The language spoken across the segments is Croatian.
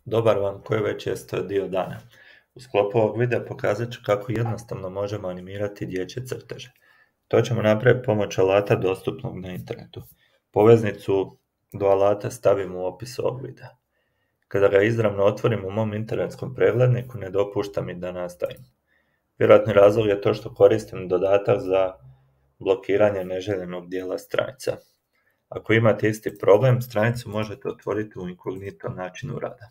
Dobar vam koji već jeste dio dana. U sklopu ovog videa pokazat ću kako jednostavno možemo animirati dječje crteže. To ćemo napraviti pomoću alata dostupnog na internetu. Poveznicu do alata stavim u opis ovog videa. Kada ga izravno otvorim u mom internetskom pregledniku, ne dopušta mi da nastavim. Vjerojatni razlog je to što koristim dodatak za blokiranje neželjenog dijela stranica. Ako imate isti problem, stranicu možete otvoriti u inkognito načinu rada.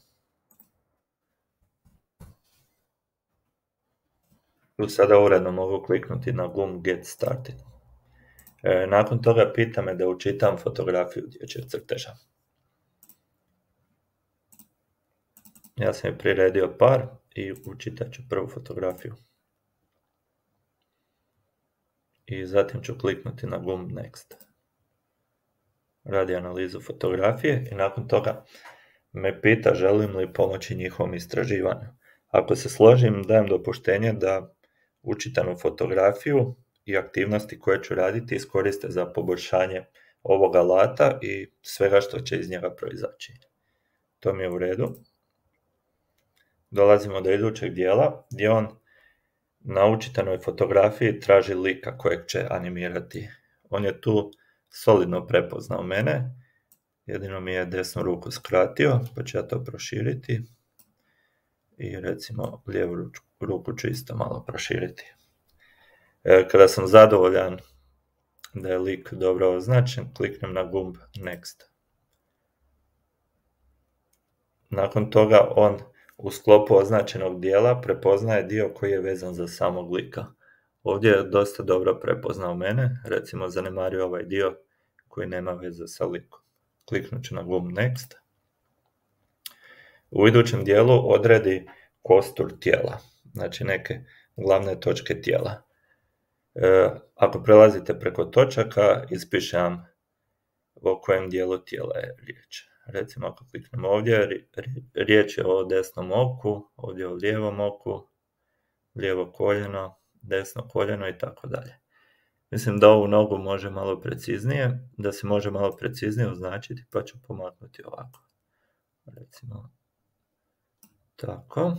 Tu sada uredno mogu kliknuti na gumb Get Started. Nakon toga pita me da učitam fotografiju dječjeg crteža. Ja sam je priredio par i učitat ću prvu fotografiju. I zatim ću kliknuti na gumb Next. Radi analizu fotografije i nakon toga me pita želim li pomoći njihovom istraživanju. Ako se složim, dajem dopuštenje da učitanu fotografiju i aktivnosti koje ću raditi iskoriste za poboljšanje ovog alata i svega što će iz njega proizaći. To mi je u redu. Dolazimo do idućeg dijela gdje on na učitanoj fotografiji traži lika kojeg će animirati. On je tu solidno prepoznao mene, jedino mi je desnu ruku skratio, pa ću ja to proširiti i recimo lijevu ruku ću isto malo proširiti. Kada sam zadovoljan da je lik dobro označen, kliknem na gumb Next. Nakon toga on u sklopu označenog dijela prepoznaje dio koji je vezan za samog lika. Ovdje je dosta dobro prepoznao mene, recimo zanemario ovaj dio koji nema veze sa likom. Kliknut ću na gumb Next. U idućem dijelu odredi kostur tijela, znači neke glavne točke tijela. Ako prelazite preko točaka, ispiše vam o kojem dijelu tijela je riječ. Recimo ako kliknemo ovdje, riječ je o desnom oku, ovdje o lijevom oku, lijevo koljeno, desno koljeno i tako dalje. Mislim da ovu nogu može malo preciznije, da se može malo preciznije označiti, pa ću pomaknuti ovako. Recimo tako.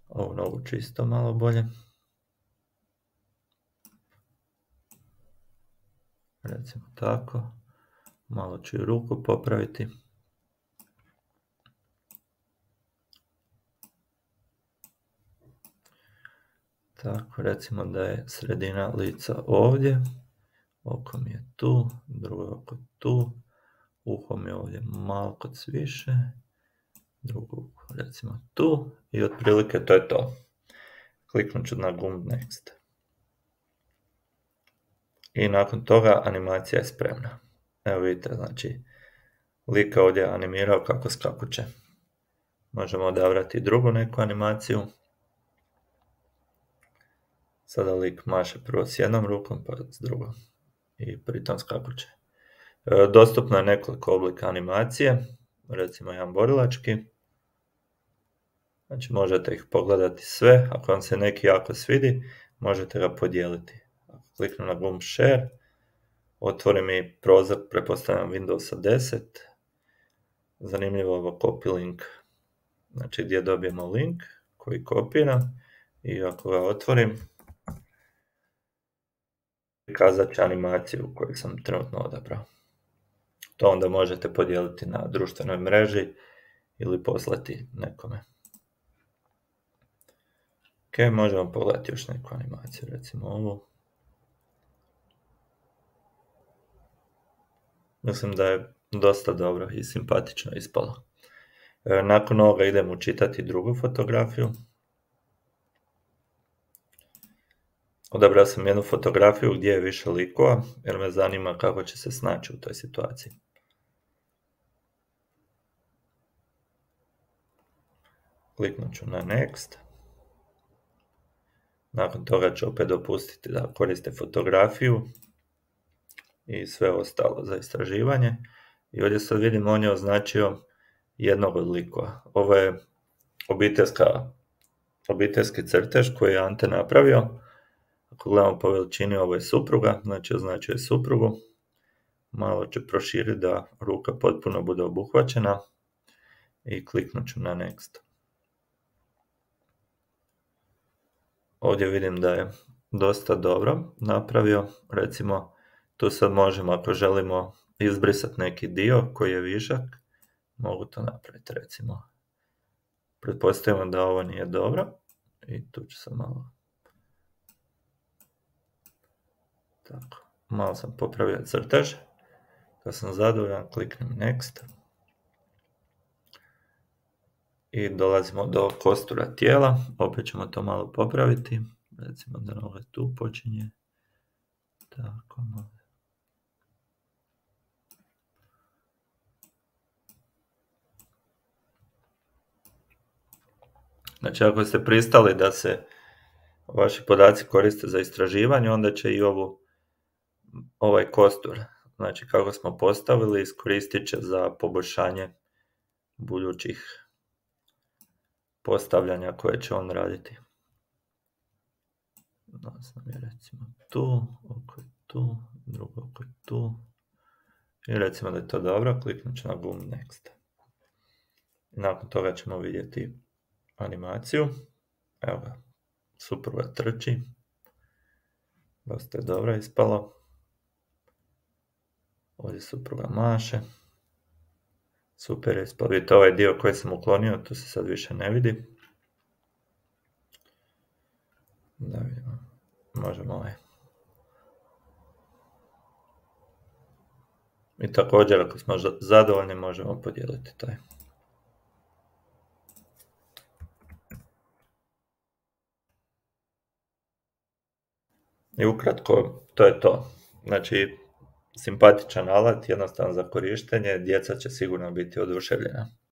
Ovu nogu čisto malo bolje. Recimo tako. Malo ću i ruku popraviti. Tako, recimo da je sredina lica ovdje. Oko mi je tu, drugo oko tu. Uho mi je ovdje malo kod više. Drugo uho recimo tu. I otprilike to je to. Kliknut ću na gumb Next. I nakon toga animacija je spremna. Evo vidite, znači, lik ovdje je animirao kako skakuće. Možemo odabrati drugu neku animaciju. Sada lik maše prvo s jednom rukom, pa s drugom. I pritom skakuće. Dostupno je nekoliko oblika animacije. Recimo jedan borilački. Znači možete ih pogledati sve. Ako vam se neki jako svidi, možete ga podijeliti. Ako kliknem na gumb Share, otvori mi prozor, pretpostavljam Windowsa 10. Zanimljivo ovo copy link. Znači gdje dobijemo link koji kopiram i ako ga otvorim, prikazat će animaciju koju sam trenutno odabrao. To onda možete podijeliti na društvenoj mreži ili poslati nekome. Ok, možemo pogledati još neku animaciju, recimo ovu. Mislim da je dosta dobro i simpatično ispalo. Nakon ovoga idem učitati drugu fotografiju. Odabrao sam jednu fotografiju gdje je više likova, jer me zanima kako će se snaći u toj situaciji. Kliknut ću na Next. Nakon toga ću opet dopustiti da koriste fotografiju i sve ostalo za istraživanje. I ovdje sad vidimo on je označio jednog od likova. Ovo je obiteljski crtež koji je Ante napravio. Ako gledamo po veličini, ovo je supruga, znači označuje suprugu. Malo ću proširiti da ruka potpuno bude obuhvaćena. i kliknut ću na Next. Ovdje vidim da je dosta dobro napravio, recimo tu sad možemo, ako želimo izbrisati neki dio koji je višak, mogu to napraviti, recimo. Pretpostavimo da ovo nije dobro i tu ću sam malo... Tako, malo sam popravio crtež, kad sam zadovoljan kliknem Next i dolazimo do kostura tijela, opet ćemo to malo popraviti, recimo da noga tu počinje, tako malo. Znači, ako ste pristali da se vaši podaci koriste za istraživanje, onda će i ovaj kostur, znači kako smo postavili, iskoristit će za poboljšanje budućih postavljanja koje će on raditi. Sam je recimo tu, oko je tu, drugo oko je tu. I recimo da je to dobro, kliknut ću na gumb Next. I nakon toga ćemo vidjeti animaciju. Evo ga, supruga trči. Dosta je dobro ispalo. Ovdje supruga maše. Super je ispalo. Vidite ovaj dio koji sam uklonio, to se sad više ne vidi. Da vidimo. Možemo ovaj. I također, ako smo zadovoljni, možemo podijeliti taj. I ukratko, to je to. Znači, simpatičan alat, jednostavan za korištenje, djeca će sigurno biti oduševljena.